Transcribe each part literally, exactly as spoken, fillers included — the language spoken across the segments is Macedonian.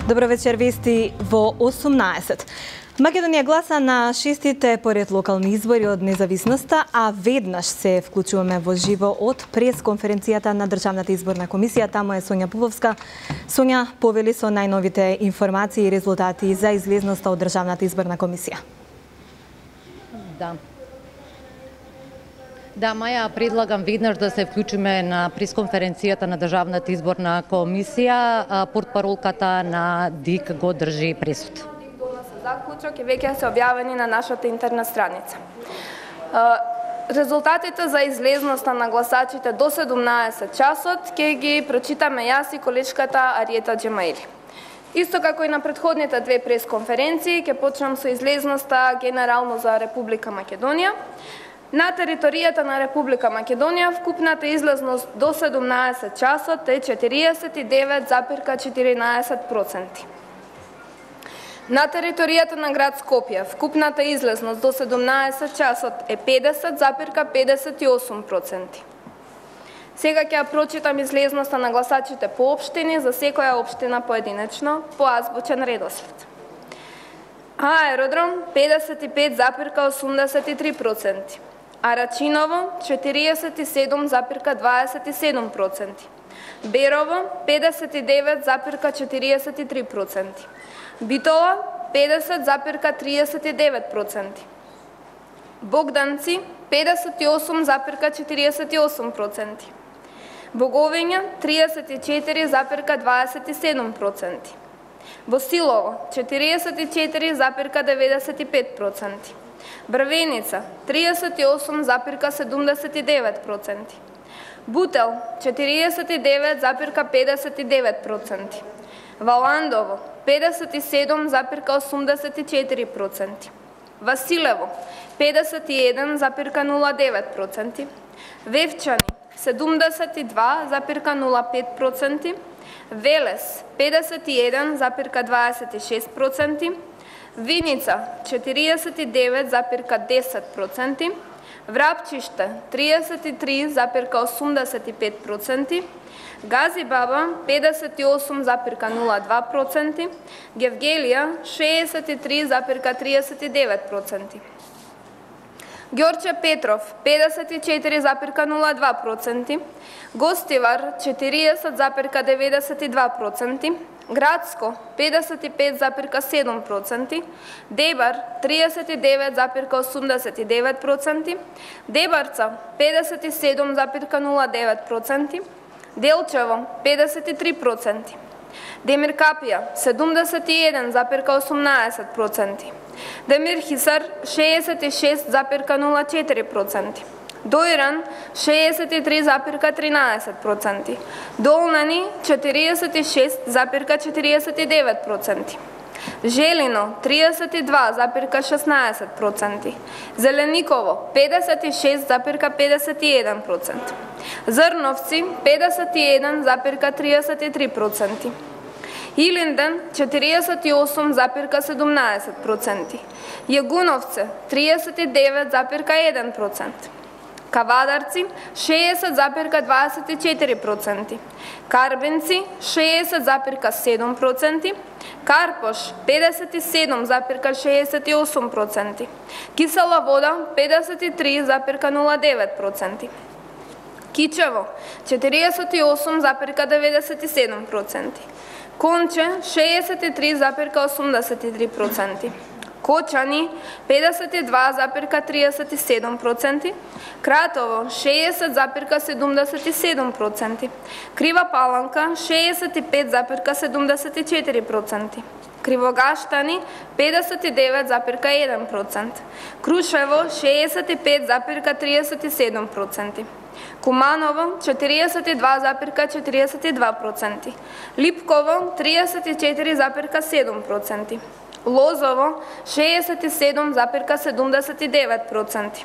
Добро вечер, вести во осумнаесет. Македонија гласа на шестите поред локални избори од независноста, а веднаш се вклучуваме во живо од пресконференцијата на Државната изборна комисија. Таму е Сонја Пуповска. Сонја, повели со најновите информации и резултати за излезноста од Државната изборна комисија. Да. Да, Маја, предлагам веднаш да се вклучиме на пресконференцијата на Државната изборна комисија. Портпаролката на ДИК го држи пресуд. Заклучок е веќе се објавени на нашата интернет страница. Резултатите за излезноста на гласачите до седумнаесет часот ќе ги прочитаме јас и колешката Ариета Джемаили. Исто како и на претходните две пресконференции, ќе почнам со излезноста генерално за Република Македонија. На територијата на Република Македонија вкупната излезност до седумнаесет часот е четириесет и девет запирка четиринаесет проценти. На територијата на град Скопје вкупната излезност до седумнаесет часот е педесет запирка педесет и осум проценти. Сега ќе ја прочитам излезноста на гласачите по општини за секоја општина поединечно по азбучен редослед. Аеродром педесет и пет запирка осумдесет и три проценти. Арачиново четириесет и седум запирка дваесет и седум проценти. Берово педесет и девет запирка четириесет и три проценти. Битола педесет запирка триесет и девет проценти. Богданци педесет и осум запирка четириесет и осум проценти. Боговиња триесет и четири запирка дваесет и седум проценти. Босилово четириесет и четири запирка деветдесет и пет проценти. Брвеница триесет и осум запирка седумдесет и девет проценти. Бутел четириесет и девет запирка педесет и девет проценти. Валандово педесет и седум запирка осумдесет и четири проценти. Василево педесет и еден запирка нула девет проценти. Вевчани седумдесет и два запирка нула пет проценти. Велес педесет и еден запирка дваесет и шест проценти. Виница четириесет и девет запирка десет проценти. Врапчиште триесет и три запирка осумдесет и пет проценти. Газибаба педесет и осум запирка нула два проценти. Гевгелија шеесет и три запирка триесет и девет проценти. Ѓорче Петров педесет и четири запирка нула два проценти. Гостивар четириесет запирка деветдесет и два проценти. Градско педесет и пет запирка седум проценти. Дебар триесет и девет запирка осумдесет и девет проценти. Дебарца педесет и седум запирка нула девет проценти. Делчево педесет и три проценти. Демиркапија седумдесет и еден запирка осумнаесет проценти. Демир Хисар шеесет и шест запирка нула четири проценти. Доиран шеесет и три запирка тринаесет проценти. Долнани четириесет и шест запирка четириесет и девет проценти. Желино триесет и два запирка шеснаесет проценти. Зелениково педесет и шест запирка педесет и еден проценти. Зрновци педесет и еден запирка триесет и три проценти. Илинден четириесет и осум запирка седумнаесет проценти. Јагуновце триесет и девет запирка еден процент. Кавадарци шеесет запирка дваесет и четири проценти. Карбенци шеесет запирка седум проценти. Карпош педесет и седум запирка шеесет и осум проценти. Кисела вода педесет и три запирка нула девет проценти. Кичево четириесет и осум запирка деветдесет и седум проценти. Конче шеесет и три запирка осумдесет и три проценти. Кочани педесет и два запирка триесет и седум проценти. Кратово шеесет запирка седумдесет и седум проценти. Крива Паланка шеесет и пет запирка седумдесет и четири проценти. Кривогаштани педесет и девет запирка еден процент. Крушево шеесет и пет запирка триесет и седум проценти. Куманово четириесет и два запирка четириесет и два проценти. Липково триесет и четири запирка седум проценти. Лозово шеесет и седум запирка седумдесет и девет проценти.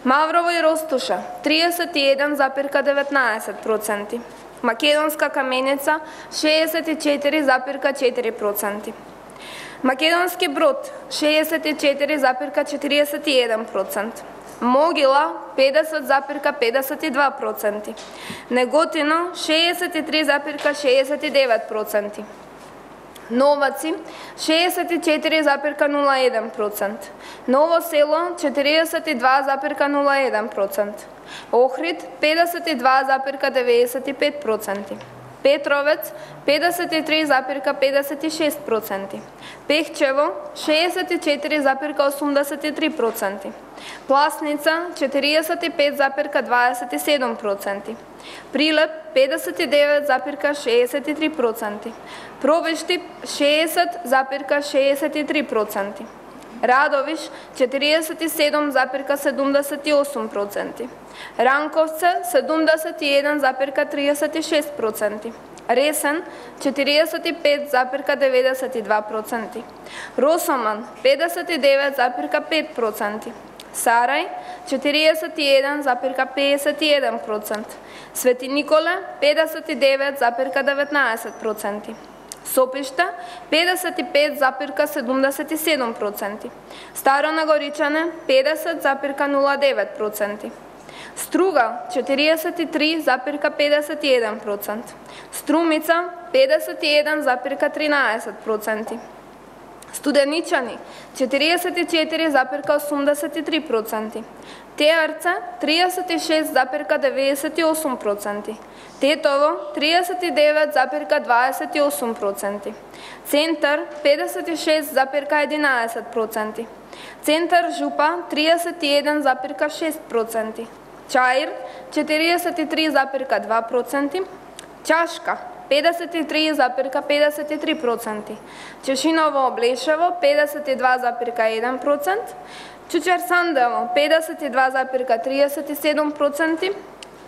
Маврово и Ростуша триесет и еден запирка деветнаесет проценти. Македонска Каменица шеесет и четири запирка четири проценти. Македонски Брод шеесет и четири запирка четириесет и еден процент. Могила педесет запирка педесет и два проценти. Неготино шеесет и три запирка шеесет и девет проценти. Новаци шеесет и четири запирка нула еден процент, Ново село четириесет и два запирка нула еден процент, Охрид педесет и два запирка деветдесет и пет проценти, Петровец педесет и три запирка педесет и шест проценти, Пехчево шеесет и четири запирка осумдесет и три проценти, Пласница четириесет и пет запирка дваесет и седум проценти, Прилеп педесет и девет запирка шеесет и три проценти, Пробишти шеесет запирка шеесет и три проценти, Радовиш четириесет и седум запирка седумдесет и осум проценти, Ранковце седумдесет и еден запирка триесет и шест проценти, Ресен четириесет и пет запирка деветдесет и два проценти, Росоман педесет и девет запирка пет проценти, Сарај четириесет и еден запирка педесет и еден процент, Свети Николе педесет и девет запирка деветнаесет проценти, Сопишта педесет и пет запирка седумдесет и седум проценти, Старо Нагоричане педесет запирка нула девет проценти, Струга четириесет и три запирка педесет и еден процент, Струмица педесет и еден запирка тринаесет проценти, Студеничани четириесет и четири запирка осумдесет и три проценти, Теарца триесет и шест запирка деветдесет и осум проценти, Тетово триесет и девет запирка дваесет и осум проценти, Центар педесет и шест запирка единаесет проценти, Центар Жупа триесет и еден запирка шест проценти, Чаир четириесет и три запирка два проценти, Чашка педесет и три запирка педесет и три проценти, Чешиново Облешево педесет и два запирка еден процент, Чучер Сандево педесет и два запирка триесет и седум проценти,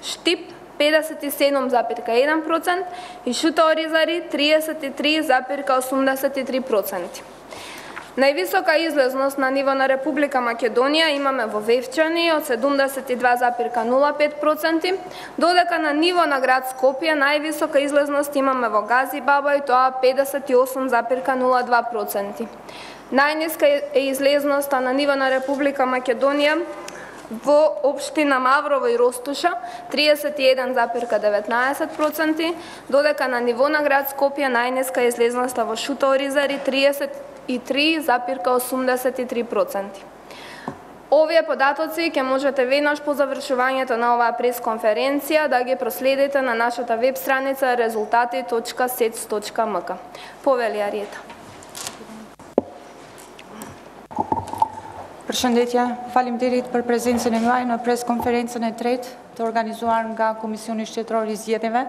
Штип педесет и седум запирка еден процент и Шута Оризари триесет и три запирка осумдесет и три проценти. Највисока излезност на ниво на Република Македонија имаме во Вевчани од седумдесет и два запирка нула пет проценти, додека на ниво на град Скопје највисока излезност имаме во Гази Баба и тоа педесет и осум запирка нула два проценти. Најниска е излезноста на ниво на Република Македонија во општина Маврово и Ростуша триесет и еден запирка деветнаесет проценти, додека на ниво на град Скопје најниска е излезноста во Шута Оризари триесет и три запирка осумдесет и три проценти. Овие податоци ќе можете веднаш по завршувањето на оваа пресконференција да ги проследите на нашата веб страница резултати точка сец точка ем ка. Повели Ариета. Përshëndetje, faleminderit për prezencën e juaj në preskonferencën e tretë të organizuar nga Komisioni Shtetëror i Zgjedhjeve,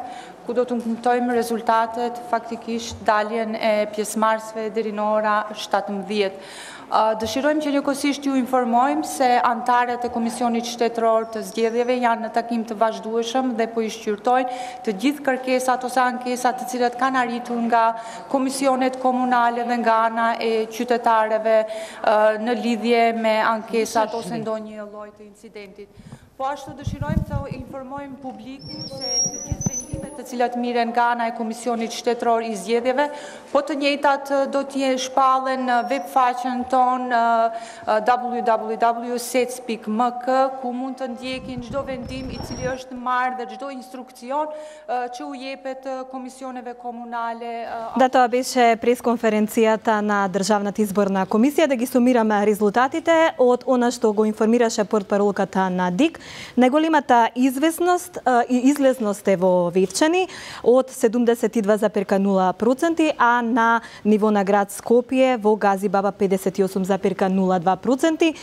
ku do të nënkuptojmë rezultatet, faktikisht daljen e pjesëmarrësve deri në ora shtatëmbëdhjetë. Dëshirojmë që njëkohësisht ju informojmë se antarët e Komisionit Shtetëror të Zgjedhjeve janë në takim të vazhdueshëm dhe po i shqyrtojnë të gjithë kërkesat ose ankesat të cilat kanë arritur nga komisionet komunale dhe nga ana e qytetarëve në lidhje me ankesat ose ndonjë lloj të incidentit. Po ashtu dëshirojmë të informojmë publikun se të gjithë vendimet të cilat miren nga ana e Komisionit Shtetëror i Zgjedhjeve, po të njëjtat do të shpallen në web faqen ton w w w punkt sec punkt m k, ku mund të ndjekin çdo vendim i cili është marrë dhe çdo instrukcion që u jepet komisioneve komunale. Да, тоа беше пресконференцијата на Државната изборна комисија, да ги сумираме резултатите од она што го информираше портпаролката на ДИК. Најголемата известност и излезност е во Вевчани од седумдесет и два запирка нула проценти, а на ниво на град Скопје во Гази Баба педесет и осум запирка нула два проценти.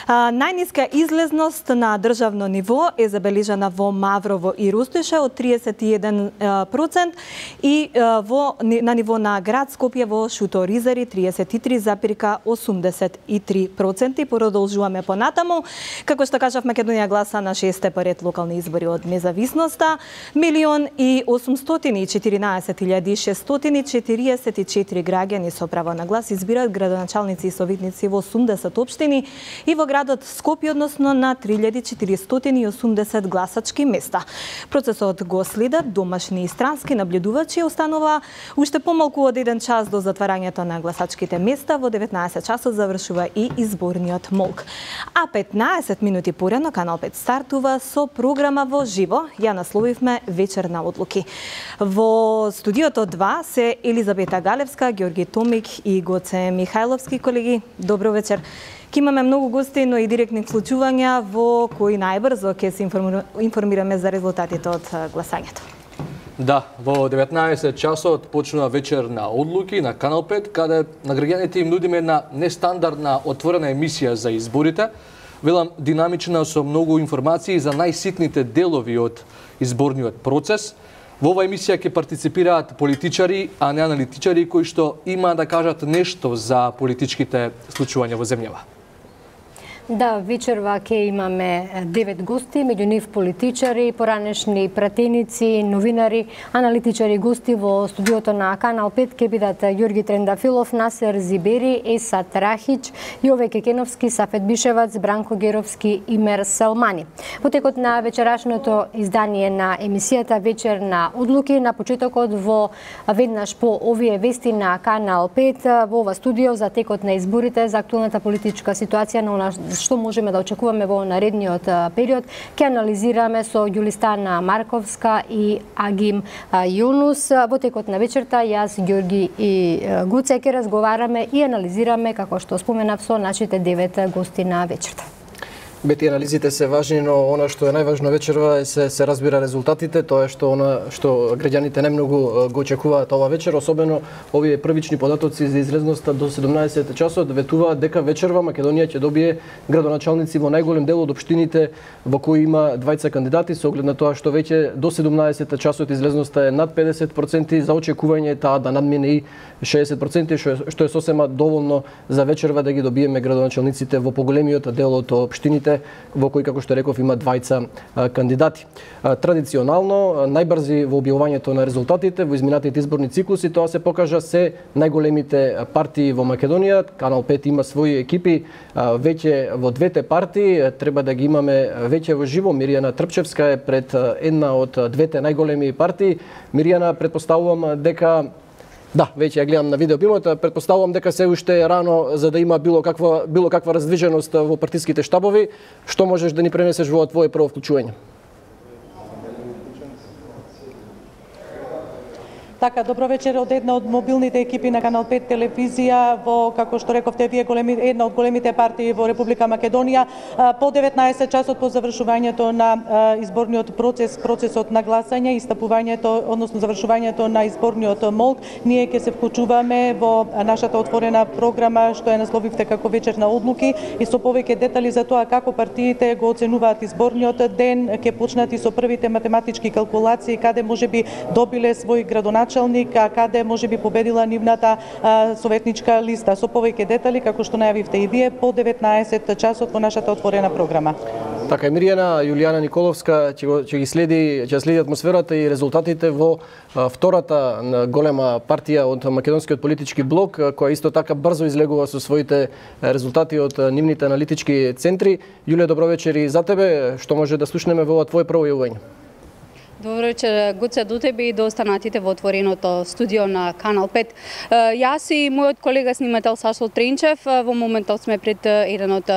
Најниска излезност на државно ниво е забележана во Маврово и Ростуша од триесет и еден процент и во на ниво на град Скопје во Шута Оризари триесет и три запирка осумдесет и три проценти. Продолжуваме понатаму. Како што кажав, Македонија гласа на шесте поред локални избори од независноста. Милион и осумстотини и четиринаесет илјади шестстотини и четириесет и четири граѓани со право на глас избираат градоначалници и советници во осумдесет општини и во градот Скопје, односно на три илјади четиристотини и осумдесет гласачки места. Процесот го следат домашни и странски наблюдувачи. Останува уште помалку од еден час до затварањето на гласачките места. Во деветнаесет часот завршува и изборниот молк. А петнаесет минути порано Канал пет стартува со програма во живо. Ја насловивме Вечер на одлуки. Во студиото два се Елизабета Галевска, Ѓорги Томик и Гоце Михајловски. Колеги, добро вечер. Ке имаме многу гости, но и директни вклучувања во кои најбрзо ќе се информираме за резултатите од гласањето. Да, во деветнаесет часот почнува вечер на одлуки на Канал пет, каде на граѓаните им нудиме една нестандардна отворена емисија за изборите. Велам динамична со многу информации за најситните делови од изборниот процес. Во оваа емисија ќе партиципираат политичари, а не аналитичари кои што има да кажат нешто за политичките случувања во земјава. Да, вечерва ќе имаме девет гости, меѓу нив политичари, поранешни пратеници, новинари, аналитичари гости во студиото на Канал пет ќе бидат Ѓорги Трендафилов, Насер Зибери, Есат Рахич, Јове Кекеновски, Сафет Бишевац, Бранко Геровски и Мер Салмани. Во текот на вечерашното издание на емисијата Вечер на одлуки, на почетокот во веднаш по овие вести на Канал пет, во ова студио за текот на изборите, за актуелната политичка ситуација на што можеме да очекуваме во наредниот период, ќе анализираме со Ѓулистана Марковска и Агим Јунус. Во текот на вечерта, јас, Ѓорги и Гуце ќе разговараме и анализираме, како што споменав, со нашите девет гости на вечерта. Бети, анализите се важни, но она што е најважно вечерва е се, се разбира резултатите, тоа е што она што граѓаните најмногу го очекуваат ова вечер, особено овие првични податоци за излезноста до седумнаесет часот ветуваат дека вечерва Македонија ќе добие градоначалници во најголем дел од општините во кои има двајца кандидати, со оглед на тоа што веќе до седумнаесет часот излезноста е над педесет проценти, за очекување е таа да надмине и шеесет проценти, што е, што е сосема доволно за вечерва да ги добиеме градоначалниците во поголемиот дел од општините во кои, како што реков, има двајца кандидати. Традиционално, најбрзи во објавувањето на резултатите во изминатите изборни циклуси, тоа се покажа се најголемите партии во Македонија. Канал пет има своји екипи веќе во двете партии, треба да ги имаме веќе во живо. Мирјана Трпчевска е пред една од двете најголеми партии. Мирјана, предпоставувам дека Да, веќе ја гледам на видео пилот, предпоставувам дека се уште е рано за да има било каква било каква раздвиженост во партиските штабови. Што можеш да ни пренесеш во твое прво вклучување? Така, добро вечер од една од мобилните екипи на Канал пет телевизија во, како што рековте вие, големи, една од големите партии во Република Македонија. По деветнаесет часот по завршувањето на изборниот процес, процесот на гласање, истапувањето, односно завршувањето на изборниот молк, ние ќе се вклучуваме во нашата отворена програма што ја насловивте како Вечер на одлуки и со повеќе детали за тоа како партиите го оценуваат изборниот ден, ќе почнат и со првите математички калкулации каде можеби добиле свој градоначалник, а каде може би победила нивната а, советничка листа. Со повеќе детали, како што најавивте и вие, по деветнаесет часот во нашата отворена програма. Така, Мирјана, Јулијана Николовска ќе, го, ќе ги следи, ќе следи атмосферата и резултатите во а, втората голема партија од македонскиот политички блок, која исто така брзо излегува со своите резултати од нивните аналитички центри. Јулија, добро вечер и за тебе. Што може да слушнеме во ова твое прво јавување? Добро вечер, Гуце, до тебе и до останатите во отвореното студио на Канал пет. Јас и мојот колега снимател Сашо Тренчев во моментот сме пред еден од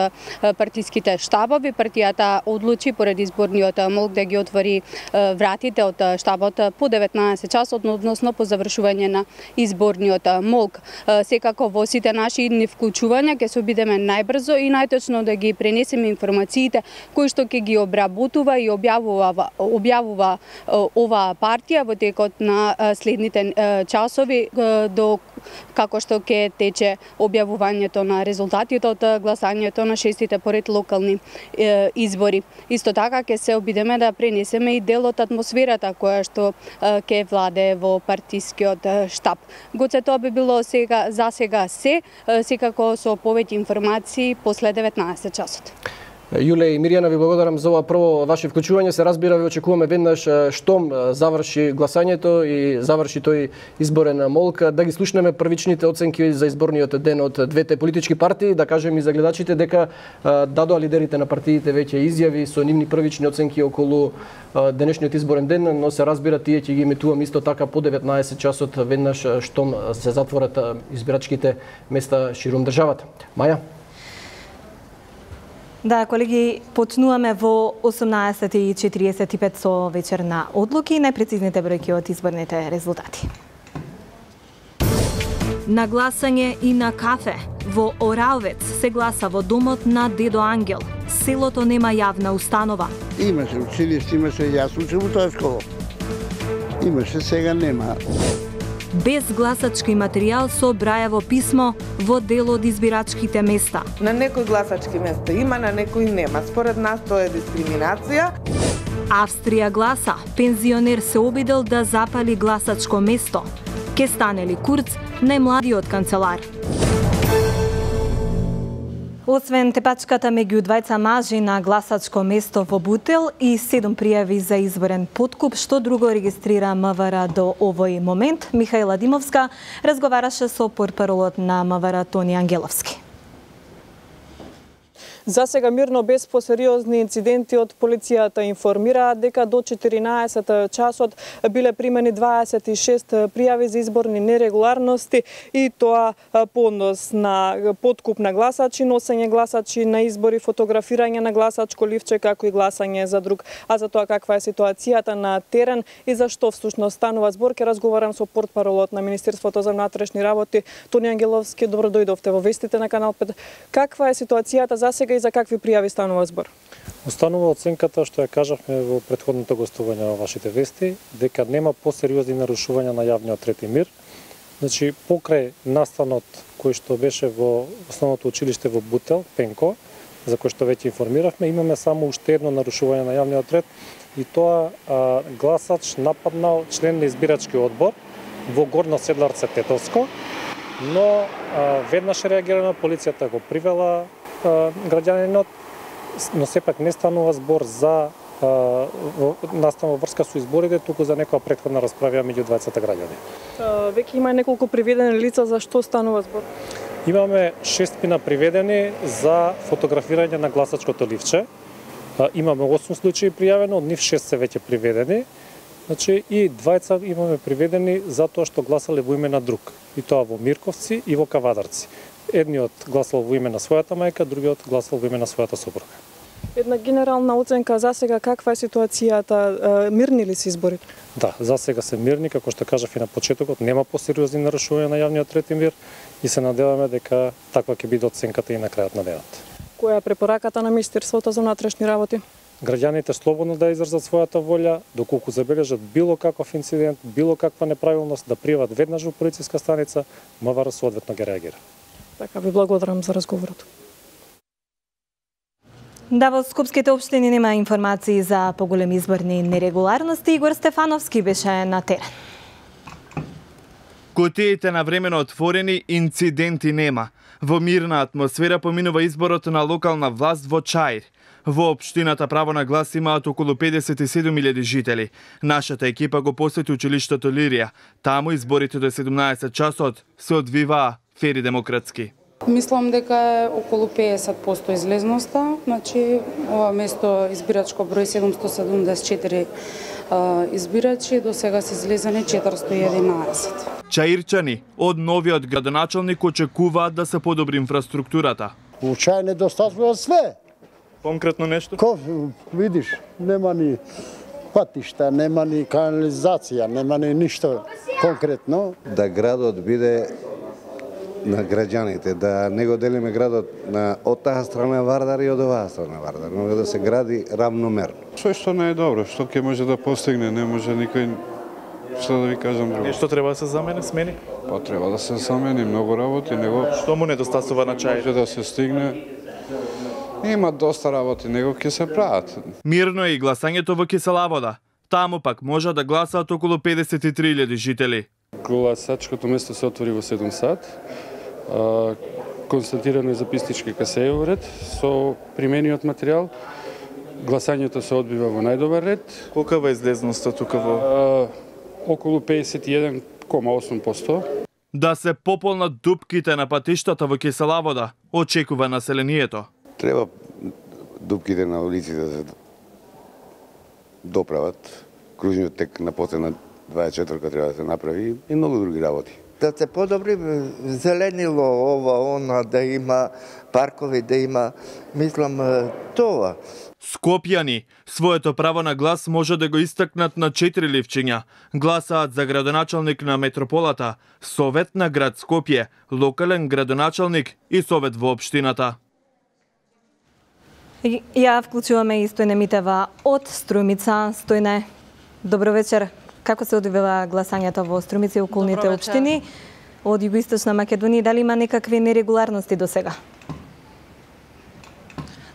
партиските штабови. Партијата одлучи поради изборниот молк да ги отвори вратите од штабот по деветнаесет часот, односно по завршување на изборниот молк. Секако во сите наши идни вклучувања ќе се обидеме најбрзо и најточно да ги пренесеме информациите кои што ќе ги обработува и објавува објавува оваа партија во текот на следните часови до како што ќе тече објавувањето на резултатите од гласањето на шестите поред локални избори. Исто така ќе се обидеме да пренесеме и дел од атмосферата која што ќе владее во партискиот штаб. Гоце, тоа би било сега за сега се, секако со повеќе информации после деветнаесет часот. Јуле и Мирјана, ви благодарам за ова прво ваше вклучување. Се разбира, ви очекуваме веднаш штом заврши гласањето и заврши тој изборен молк, да ги слушнеме првичните оценки за изборниот ден од двете политички партии, да кажем и за гледачите дека дадоа лидерите на партиите веќе изјави со нивни првични оценки околу денешниот изборен ден, но се разбира тие ќе ги емитувам исто така по деветнаесет часот веднаш штом се затворат избирачките места ширум државата. Маја? Да, колеги, почнуваме во осумнаесет и четириесет и пет со вечерна одлуки, најпрецизните бројки од изборните резултати. На гласање и на кафе. Во Оравец се гласа во домот на Дедо Ангел. Селото нема јавна установа. Имаше училиште, имаше, јас учам во тоа школа. Имаше, сега нема. Без гласачки материјал со Брајево писмо во дел од избирачките места. На некои гласачки места има, на некои нема. Според нас тоа е дискриминација. Австрија гласа. Пензионер се обидел да запали гласачко место. Ке стане ли Курц, најмладиот канцелар? Освен тепачката меѓу двајца мажи на гласачко место во Бутел и седум пријави за изборен подкуп, што друго регистрира МВР до овој момент, Михаила Димовска разговараше со портпаролот на МВР Тони Ангеловски. За сега мирно, без посериозни инциденти, од полицијата информираат дека до четиринаесет часот биле примени дваесет и шест пријави за изборни нерегуларности и тоа по однос на подкуп на гласачи, носење гласачи на избори, фотографирање на гласачко ливче, како и гласање за друг. А за тоа каква е ситуацијата на терен и зашто всушност станува збор, ќе разговарам со портпаролот на Министерството за внатрешни работи Тони Ангеловски. Добро дојдовте во вестите на Канал пет. Каква е ситуацијата за сега и за какви пријави станува збор? Останува оценката што ја кажавме во претходното гостување во вашите вести, дека нема посериозни нарушувања на јавниот ред и мир. Значи, покрај настанот кој што беше во основното училиште во Бутел, Пенко, за кој што веќе информиравме, имаме само уште едно нарушување на јавниот ред и тоа а, гласач нападнал член на избирачки одбор во Горно Седларце Тетовско, но а, веднаш реагирана, полицијата го привела граѓанинот, но сепак не станува збор за настан во врска со изборите, туку за некоја претходна расправа меѓу двајцата граѓани. Веќе има неколку приведени лица, за што станува збор? Имаме шестмина приведени за фотографирање на гласачкото ливче. Имаме осум случаи пријавено, од нив шест се веќе приведени. Значи и двајца имаме приведени за тоа што гласале во име на друг, и тоа во Мирковци и во Кавадарци. Едниот гласал во име на својата мајка, другиот гласал во име на својата сопруга. Една генерална оценка за сега, каква е ситуацијата, мирни ли се изборите? Да, за сега се мирни, како што кажав и на почетокот, нема посериозни нарушувања на јавниот ред и мир и се надеваме дека таква ќе биде оценката и на крајот на денот. Која е препораката на Министерството за внатрешни работи? Граѓаните слободно да изразат својата волја, доколку забележат било каков инцидент, било каква неправилност, да пријават веднаш во полициска станица, МВР соодветно ги реагира. Така, ви благодарам за разговорот. Да, во скопските општини нема информации за поголеми изборни нерегуларности. Игор Стефановски беше на терен. Кутиите на времено отворени, инциденти нема. Во мирна атмосфера поминува изборот на локална власт во Чаир. Во општината право на глас имаат околу педесет и седум илјади жители. Нашата екипа го посети училиштето Лирија. Таму изборите до седумнаесет часот се одвиваа фер и демократски. Мислам дека е околу педесет проценти излезноста, значи ова место избирачко број седумстотини седумдесет и четири избирачи, до сега се излезени четиристотини и единаесет. Чаирчани од новиот градоначалник очекуваат да се подобри инфраструктурата. У Чаир недостатува све. Конкретно нешто? Ко, видиш, нема ни патишта, нема ни канализација, нема ни ништо конкретно. Да градот биде на граѓаните, да не го делиме градот на од таа страна Вардар и од оваа страна Вардар, но да се гради равномерно. Што што не е добро, што ќе може да постигне, не може никој, што да ви кажам друго. Нешто треба да се замени, смени? Па треба да се замени многу работи, него што му недостасува на Чаир? Може да се стигне. Има доста работи, него ќе се прават. Мирно е и гласањето во Киселавода. Таму пак може да гласаат околу педесет и три илјади жители. Гласачкото место се отвори во седум сат. Констатирано е записнички касеј во ред со примениот материјал. Гласањето се одбива во најдобар ред. Колкава е излезноста тука во? Околу педесет и еден кома осум проценти. Да се пополнат дупките на патиштата во Киселавода, очекува населението. Треба дупките на улиците да се доправат. Кружниот тек на потена дваесет и четвртка треба да се направи и многу други работи. да се подобри зеленило, ова, она, да има паркови, да има, мислам, тоа. Скопјани своето право на глас може да го истакнат на четири ливчиња. Гласаат за градоначалник на метрополата, совет на град Скопје, локален градоначалник и совет во општината. Ја вклучуваме и Стојне Митева од Струмица. Стојне, добро вечер. Како се одвива гласањето во Струмица и околните општини од Југоисточна Македонија? Дали има некакви нерегуларности до сега?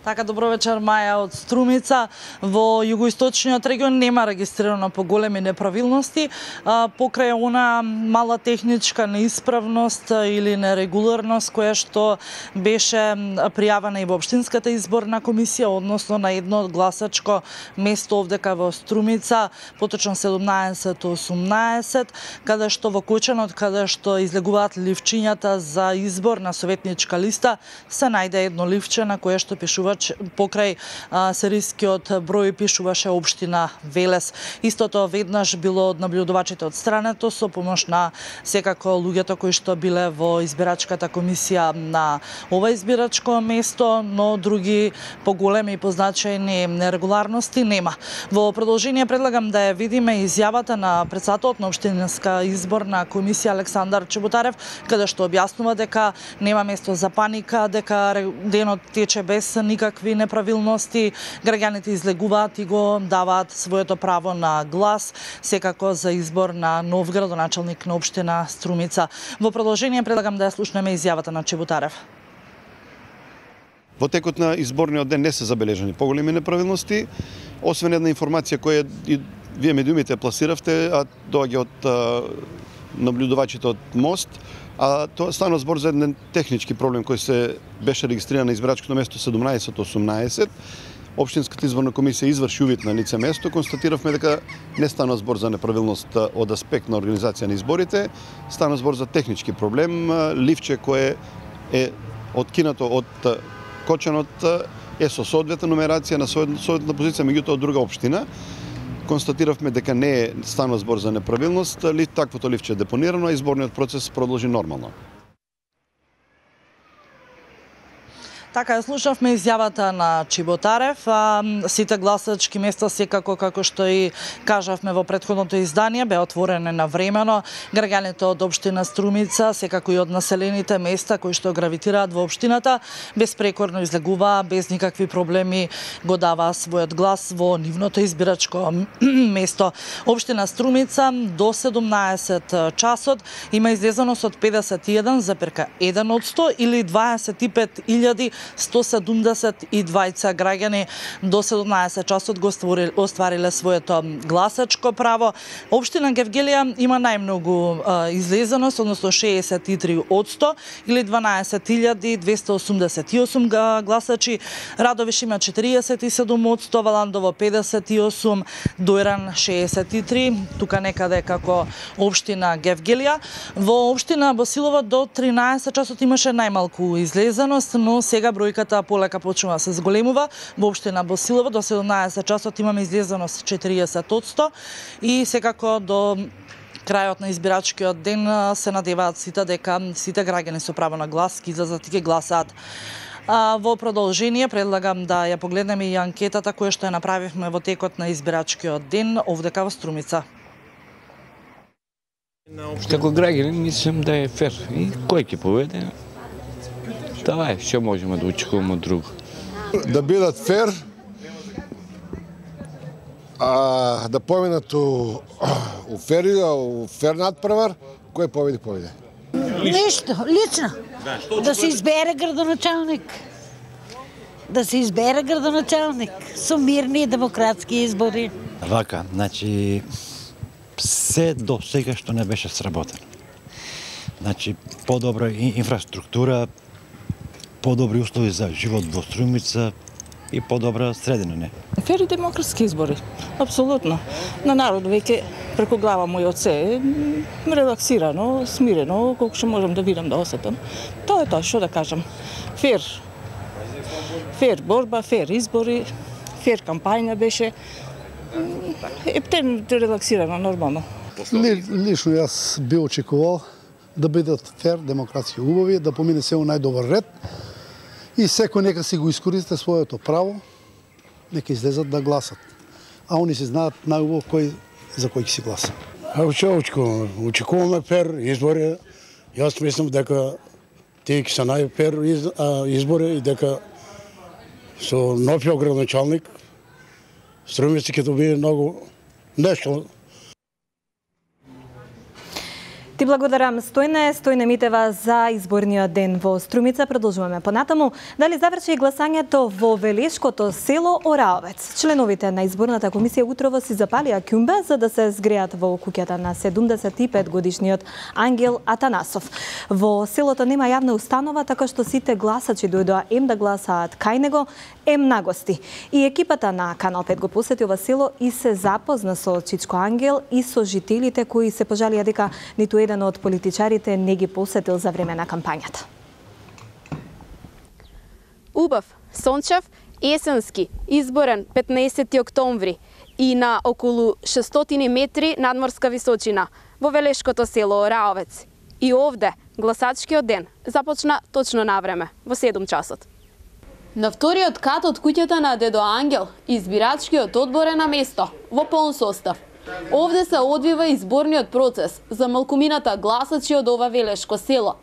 Така, добро вечер, Маја од Струмица. Во југоисточниот регион нема регистрирано поголеми неправилности. Покрај она мала техничка неисправност или нерегуларност која што беше пријавена и во општинската изборна комисија, односно на едно гласачко место овдека во Струмица, поточно седумнаесет осумнаесет, каде што во кученот, каде што излегуваат ливчињата за избор на советничка листа, се најде едно ливче на кое што пишува покрај а, серискиот број пишуваше општина Велес. Истото веднаш било од наблюдувачите од страната со помош на секако луѓето кои што биле во избирачката комисија на ова избирачко место, но други поголеми и позначајни нерегуларности нема. Во продолжение предлагам да ја видиме изјавата на председателот на општинска изборна комисија Александар Чеботарев, каде што објаснува дека нема место за паника, дека денот тече без никакви какви неправилности, граѓаните излегуваат и го даваат своето право на глас, секако за избор на нов градоначалник на општина Струмица. Во продолжение предлагам да ја слушнеме изјавата на Чеботарев. Во текот на изборниот ден не се забележани поголеми неправилности, освен една информација која и вие медиумите пласиравте, а доаѓа од а, наблюдувачите од МОСТ, а тоа стана збор за еден технички проблем кој се беше регистриран на избирачкото место седумнаесет осумнаесет. Општинската изборна комисија изврши увид на лице место, констатиравме дека не стана збор за неправилност од аспект на организација на изборите, стана збор за технички проблем, ливче кое е откинато од кочанот е со соодветна нумерација на соодветна позиција, меѓутоа од друга општина. Констатиравме дека не е станува збор за неправилност, ли таквото ливче е депонирано, а изборниот процес продолжи нормално. Така, слушавме изјавата на Чеботарев. Сите гласачки места, секако како што и кажавме во претходното издание, беа отворени навремено. Граѓаните од општина Струмица, секако и од населените места кои што гравитираат во општината, безпрекорно излегуваа, без никакви проблеми го даваа својот глас во нивното избирачко место. Општина Струмица до седумнаесет часот има излезеност од педесет и еден запирка еден одсто или дваесет и пет илјади сто седумдесет и двајца граѓани до седумнаесет часот го оствариле своето гласачко право. Општина Гевгелија има најмногу излезеност, односно шеесет и три одсто или дванаесет илјади двесте осумдесет и осум гласачи. Радовиш има четириесет и седум одсто, Валандово педесет и осум, Дојран шеесет и три, тука некаде како општина Гевгелија. Во општина Босилово до тринаесет часот имаше најмалку излезеност, но сега бројката полека почнува да се зголемува. Во општина Босилово до седумнаесет часот имаме излезеност четириесет одсто и секако до крајот на избирачкиот ден се надеваат сите дека сите граѓани со право на глас ќе излезат и ќе гласаат. А, во продолжение предлагам да ја погледнеме и анкетата која што ја направивме во текот на избирачкиот ден овдека во Струмица. Како граѓани мислам да е фер и кој ќе поведе? Тоа е, што можеме да очекуваме од друго. Да бидат фер, а, да поминат у, у фери, у фер надпревар, кој победи, победи. Ништо, лично. Да се избере градоначалник. Да се избере градоначалник со мирни и демократски избори. Вака, значи, се до сега што не беше сработено. Значи, подобра инфраструктура, подобри услови за живот во Струмица и подобра средина, не? Фери демократски избори, апсолутно. На народ веќе преку глава мој од се, релаксирано, смирено, колку што можам да видам, да осетам. Тоа е тоа, што да кажам. Фер. Фер борба, фер избори, фер кампања беше. Ептен релаксирано, нормално. Лично јас би очекувал да бидат фер, демокрација убави, да помине се у најдобар ред и секој нека си го искористи своето право, нека излезат да гласат. А они се знаат најубаво кој за кој ќе си гласа. А што очекуваме? Очекуваме фер избори. Јас мислам дека тие ќе се најфер избори и дека со новиот градоначалник Струмица ќе добие многу нешто. Ти благодарам, Стојне, Стојне Митева, за изборниот ден во Струмица. Продолжуваме понатаму. Дали заврши гласањето во Велешкото село Ораовец? Членовите на изборната комисија утрово си запалија ќумбе за да се згреат во куќата на седумдесет и пет годишниот Ангел Атанасов. Во селото нема јавна установа, така што сите гласачи дојдоа ем да гласаат кај него, ем на гости. И екипата на Канал пет го посети ова село и се запозна со Чичко Ангел и со жителите кои се пожалија дека ниту еден од политичарите не ги посетил за време на кампањата. Убав, сончев, есенски, изборен петнаесети октомври и на околу шестстотини метри надморска височина во Велешкото село Ораовец. И овде гласачкиот ден започна точно на време, во седум часот. На вториот кат од куќата на дедо Ангел, избирачкиот одбор е на место, во полн состав. Овде се одвива изборниот процес за малкумината гласачи од ова велешко село.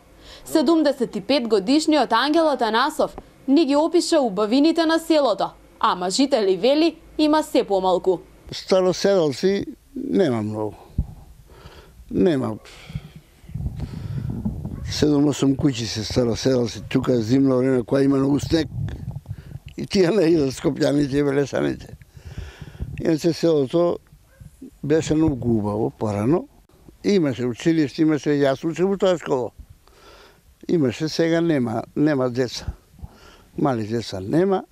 седумдесет и пет годишниот Ангел Атанасов ни ги опиша убавините на селото, ама жители вели има се помалку. Староседалци нема многу. Нема. седум-осум куќи се староседалци, тука зимно време која има многу снег и тие не идат скопјаните и велесаните. Иначе селото беше многу убаво порано. Имаше училиште, имаше, јас учев во тоа школа. Имаше, сега нема, нема деца. Мали деца нема.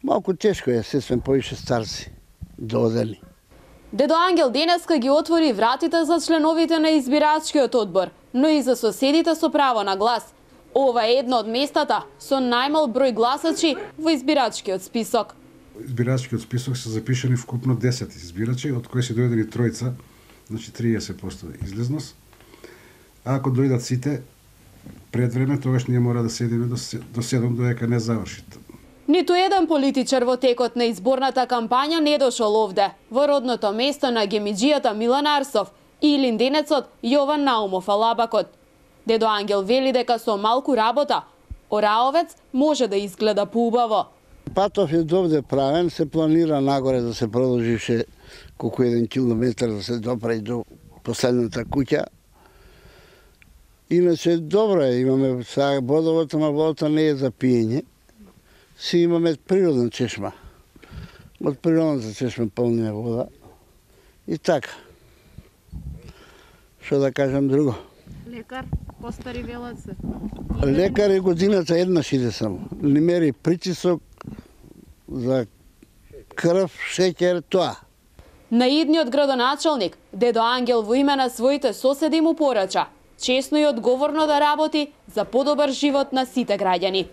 Малку тешко е, сесвен повише старци, додели. Дедо Ангел денеска ги отвори вратите за членовите на избирачкиот одбор, но и за соседите со право на глас. Ова е едно од местата со најмал број гласачи во избирачкиот список. Избирачкиот список се запишани вкупно десет избирачи, од кои се дојдени тројца, значи триесет проценти излезност. А ако дојдат сите пред време, тогаш ние мора да седиме до седум додека не заврши. Ниту еден политичар во текот на изборната кампања не дошол овде, во родното место на гемиџијата Милан Арсов и линденецот Јован Наумов Алабакот. Дедо Ангел вели дека со малку работа, Ораовец може да изгледа поубаво. Патов е довде правен, се планира нагоре да се продолжише колку еден километар да се допре до последната куќа. Иначе добро е, имаме сега водовото, ама водата не е за пиење. Си имаме природна чешма. Од природната чешма полниме вода. И така. Што да кажам друго? Лекар, постари велат се. Лекар е годината еднаш иде само. Не мери притисок за крв, шеќер, тоа. Наидниот градоначалник, дедо Ангел во име на своите соседи му порача честно и одговорно да работи за подобар живот на сите граѓани.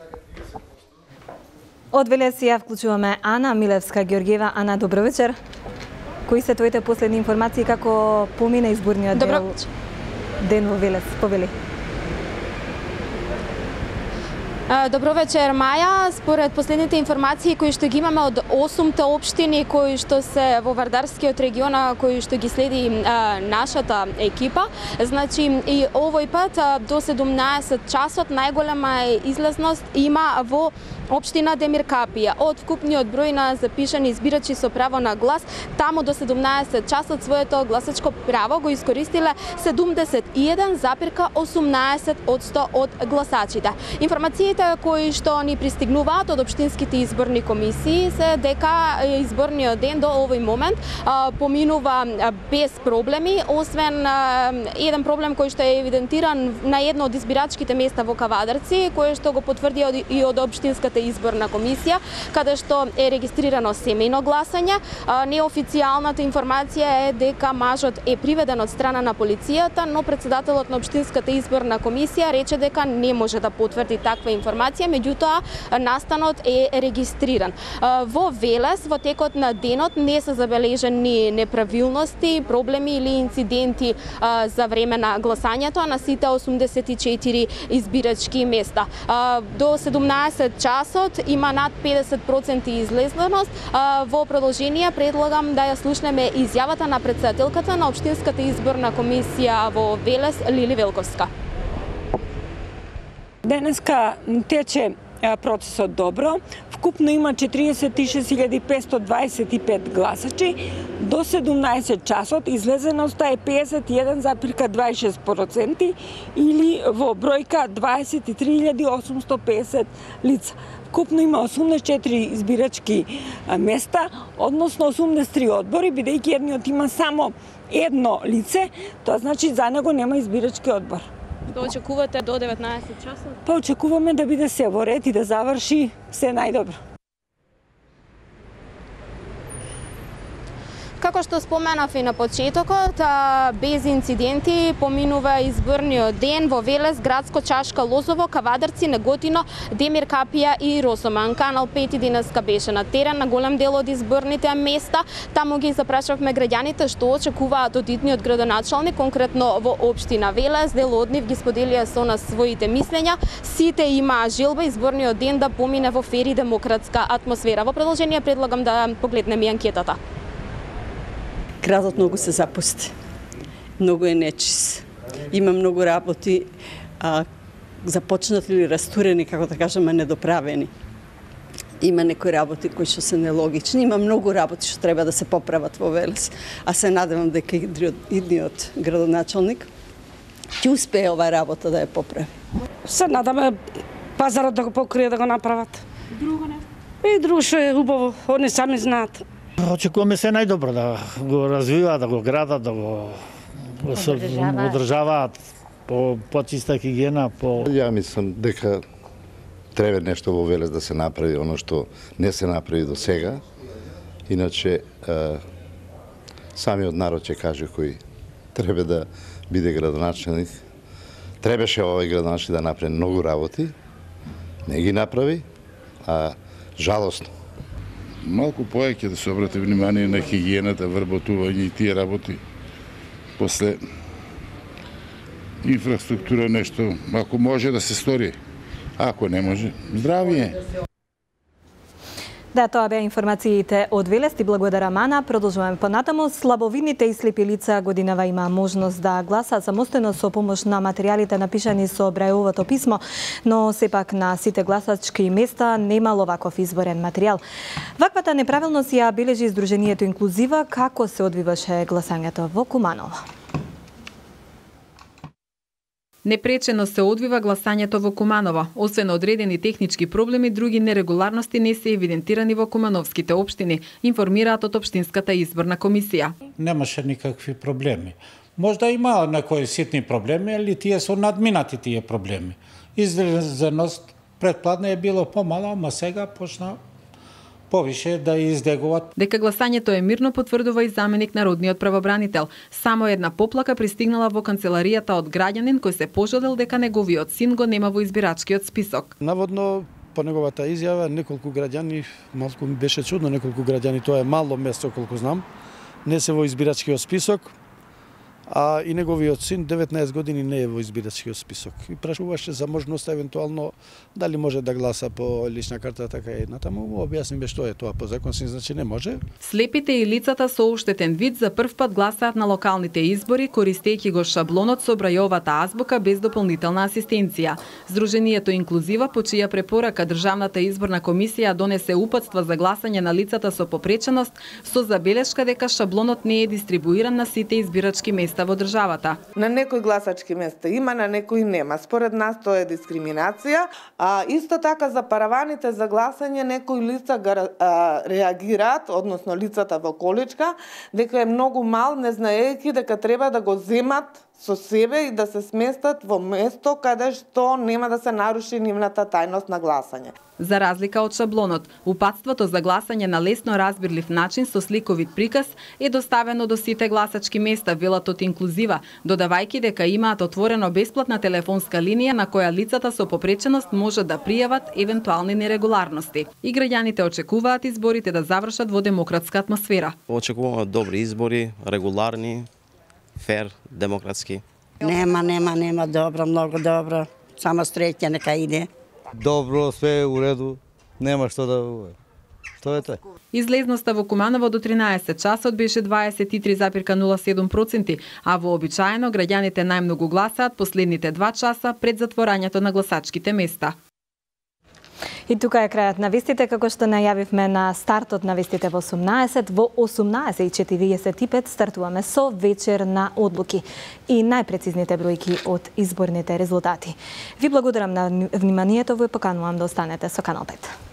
Од Велес ја вклучуваме Ана Милевска-Георгиева. Ана, добро вечер. Кои се твоите последни информации како помина изборниот дел ден во Велес? Повели. Добро вечер, Маја. Според последните информации кои што ги имаме од осумте општини кои што се во Вардарскиот регион, кои што ги следи а, нашата екипа, значи и овој пат а, до седумнаесет часот најголема излезност има во општина Демир Капија. Од вкупниот број на запишани избирачи со право на глас, таму до седумнаесет часот своето гласачко право го искористиле седумдесет и еден запирка осумнаесет одсто од гласачите. Информациите кои што ни пристигнуваат од општинските изборни комисии се дека изборниот ден до овој момент а, поминува без проблеми, освен а, еден проблем кој што е евидентиран на едно од избирачките места во Кавадарци, кој што го потврди и од општинската изборна комисија, каде што е регистрирано семејно гласање. А, неофицијалната информација е дека мажот е приведен од страна на полицијата, но претседателот на општинската изборна комисија рече дека не може да потврди таква информација информација, меѓутоа настанот е регистриран. Во Велес во текот на денот не се забележени неправилности, проблеми или инциденти за време на гласањето на сите осумдесет и четири избирачки места. До седумнаесет часот има над педесет проценти излезнаност. Во продолжение предлагам да ја слушнеме изјавата на претседателката на Општинската изборна комисија во Велес, Лили Велковска. Денеска тече процесот добро. Вкупно има четиридесет и шест илјади петстотини дваесет и пет гласачи. До седумнаесет часот излезеноста е педесет и еден запирка дваесет и шест проценти или во бројка дваесет и три илјади осумсто педесет лица. Вкупно има осумдесет и четири избирачки места, односно осумдесет и три одбори, бидејќи едниот има само едно лице, тоа значи за него нема избирачки одбор. Што очекувате до деветнаесет часот? Па очекуваме да биде се во ред и да заврши се најдобро. Како што споменав и на почетокот, без инциденти поминува изборниот ден во Велес, Градско, Чашка, Лозово, Кавадарци, Неготино, Демир, Капија и Росоман. Канал пет денеска беше на терен на голем дел од изборните места. Таму ги запрашавме граѓаните што очекуваат од итниот градоначалник, конкретно во општина Велес. Дел од нив ги споделија со нас своите мислења. Сите имаа желба изборниот ден да помине во фер и демократска атмосфера. Во продолжение предлагам да погледнеме и анкетата. Градот многу се запусти, многу е нечис. Има многу работи а, започнати или растурени, како да кажеме, недоправени. Има некои работи кои што се нелогични, има многу работи што треба да се поправат во Велес, а се надевам дека идниот градоначалник ќе успее оваа работа да ја поправи. Се надаме пазарот да го покрие, да го направат. Друго не? И друго што е убаво, они сами знаат. Очекуваме се најдобро да го развиваат, да го градат, да го одржаваат по почиста хигиена, по Ја мислам дека треба нешто во Велес да се направи, оно што не се направи до сега. Иначе самиот народ ќе каже кој треба да биде градоначалник. Требаше овој градоначалник да направи многу работи, не ги направи, а жалосно. Малку повеќе да се обрати внимание на хигиената, вработување и тие работи. После инфраструктура нешто, ако може да се стори, ако не може, здравие. Да, тоа беа информациите од Велес и благодарам Ана. Продолжуваме понатаму. Слабовидните и слепи лица годинава има можност да гласаат самостојно со помош на материјалите напишани со Брајловото писмо, но сепак на сите гласачки места немало ваков изборен материјал. Ваквата неправилност ја бележи Сдруженијето Инклузива. Како се одвиваше гласањето во Куманово? Непречено се одвива гласањето во Куманово. Освен одредени технички проблеми, други нерегуларности не се евидентирани во кумановските општини, информираат од Општинската изборна комисија. Немаше никакви проблеми. Можда има некои ситни проблеми, али тие се надминати тие проблеми. Излезеност предпладне е било помала, ама сега почна повише да издегуваат. Дека гласањето е мирно потврдува и заменик народниот правобранител. Само една поплака пристигнала во канцеларијата од граѓанин кој се пожалел дека неговиот син го нема во избирачкиот список. Наводно по неговата изјава неколку граѓани, малку ми беше чудно, неколку граѓани, тоа е мало место колку знам, не се во избирачкиот список. А и неговиот син деветнаесет години не е во избирачкиот список. И прашуваше за можност евентуално дали може да гласа по лична карта, така и натаму. Објаснивме што е тоа по закон, значи не може. Слепите и лицата со оштетен вид за прв пат гласаат на локалните избори, користејќи го шаблонот со Брајовата азбука без дополнителна асистенција. Сдруженијето Инклузива, по чија препорака Државната изборна комисија донесе упатства за гласање на лицата со попреченост, со забелешка дека шаблонот не е дистрибуиран на сите избирачки места во државата. На некои гласачки места има, на некои нема. Според нас тоа е дискриминација, а исто така за параваните за гласање некои лица а, реагираат, односно лицата во количка, дека е многу мал, не знаејќи дека треба да го земат со себе и да се сместат во место каде што нема да се наруши нивната тајност на гласање. За разлика од шаблонот, упатството за гласање на лесно разбирлив начин со сликовит приказ е доставено до сите гласачки места, велат од Инклузива, додавајќи дека имаат отворено бесплатна телефонска линија на која лицата со попреченост можат да пријават евентуални нерегуларности. И граѓаните очекуваат изборите да завршат во демократска атмосфера. Очекуваме добри избори, регуларни, фер, демократски. Нема, нема, нема, добро, многу добро. Само среќа нека иде. Добро, све е у реду, нема што да... Што е тоа? Излезноста во Куманово до тринаесет часот беше дваесет и три зарез нула седум проценти, а вообичаено граѓаните најмногу гласаат последните два часа пред затворањето на гласачките места. И тука е крајот на вестите, како што најавивме на стартот на вестите во осумнаесет, во осумнаесет и четириесет и пет стартуваме со вечер на одлуки и најпрецизните бројки од изборните резултати. Ви благодарам на вниманието, ви поканувам да останете со Канал пет.